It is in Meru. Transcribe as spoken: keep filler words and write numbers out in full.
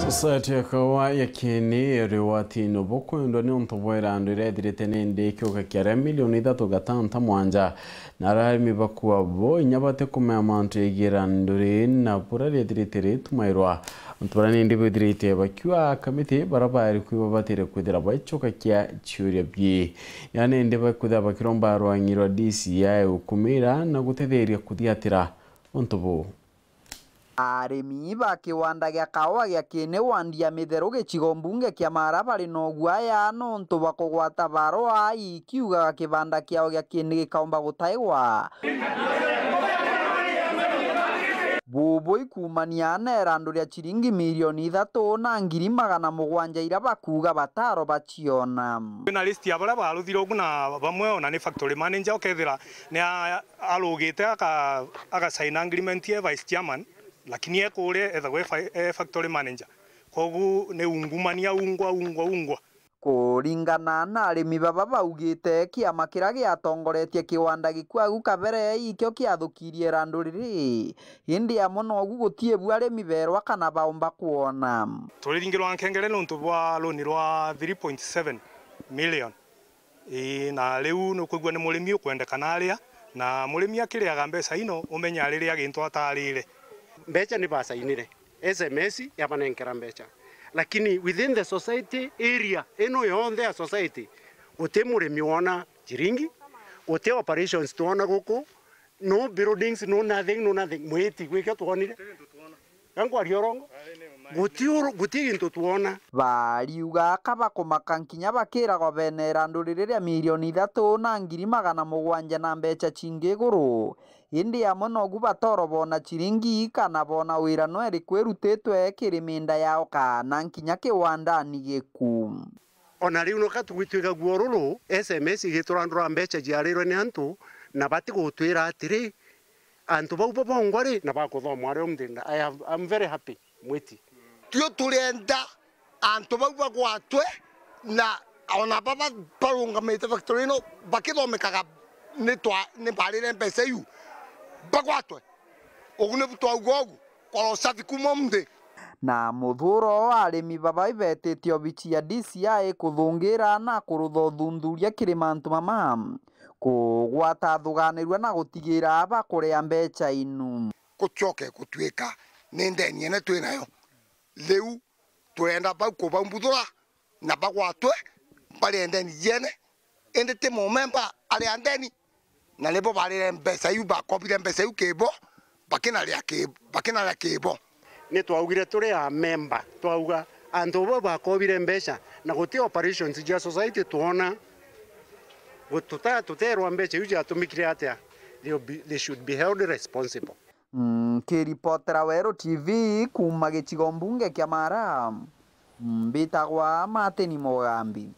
Society ya Kaua ya Kieni iri ugwatini bukwendwa niuntu bwa irandu iria ithirite nindi ikiuga kia aria milioni ithatu gatanta mwanja, na aria arimi bakua bo inya batikumenya mantu jegii irandu rii na buria riithirite ritumairwa. Antu baria nindi bithirite bakiuga kamiti baria baari kwi babatire kwithira baicokakia ciuria bii. Inya nindi bakwithira bakiromba rwang'i rwa D C I gukumira na gutetheria kuthiatira untu buu. Arimi ba kiwanda gia kaua gia Kieni wandi ya Mitheru gicigo mbunge kia Mara bari na uguaya nontu bwa kugwata barua ikiugaga kibanda kiao gia Kieni gikaumba gutaigwa. Bubu ikumania na irandu ria ciringi milioni ithatu na ngiri magana mugwanja iria bakuuga bataro baciona. Kwina list ya baria baruthire ugu na bamwe ona ni factory manager ukethira ni a- arugite aka- agasign agreement ye vice chairman, lakini e kuria ethagwa e fa- e factory manager. Kogu ni ungumania ungwa ungwa ungwa. Kuringana na arimi baba baugite, kiama kiria giatongoretie kiwanda gikuagu kabere ikio kiathukirie irandu riri, indi amwe nogu gutii bu arimi berwa kana baumba kwona. Turiringirwa nkengere niuntu bwa loan rwa three point seven million. Ii, na riu nukwigua ni murimi ukwendekana aria, na murimi akiriaga mbeca ino, umenye riria gintu atarire. Mbeca ni basainire, S M S yabanenkera mbeca, lakini within the society area ino yonthe ya society, guti murimi wona ciringi, guti operations twona guku, no buildings, no nothing, no nothing. Mwiti, gwikio twonire? Ga nkwaria urongo? Guti uru- guti gintu twona. Bariuga aka bakumaka nkinya bakiragwa bene irandu riri ria milioni ithatu na ngiri magana mugwanja na mbeca cingi iguru. Indi amwe nogu batoro bona ciringi kana bona wira no iriku irutitwe kiri minda yao kana nkinya kiwandani giku. Ona riu noka tugwitwika guo ruru, S M S igiturandura mbeca ciarirwe ni antu, na batigutwira atiri, antu bau babongwa ri, na bakuthomwa ari umthinda. I have, I'm very happy, Mwiti. Tio turenda antu bau bagwatwe, na ona baba barungamite factory ino bakithomekaga ni twa- ni barire mbeca iu, bagwatwe. Ugu nibu twauga ugu, kora usafi kuma umthi. Na muthuro arimi baba ibetite obici ya D C I kuthungira na kurutha uthuthuria kiri mantu mama, kugwata thuganirua na gutigira bakuria mbeca inu. Gucoke gutuika ni ndeni ene twinayo. Riu turenda bau kubambuthura na bagwatwe barie ndeni ciene, indi ti mumemba aria ndeni, na nibo barire mbeca iu, bakobire mbeca iu kibo, bakinaria ki- bakinaria kibo. Ni twaugire turi a memba, twauga antu bo bakobire mbeca na guti operations cia society twona, gu- tuta- tuterwa mbeca iu ciatumikire atia, they will be- they should be held responsible. Nkiripotera Weru T V kuuma gicigo mbunge kia Mara, mbitagwa Martin Mugambi.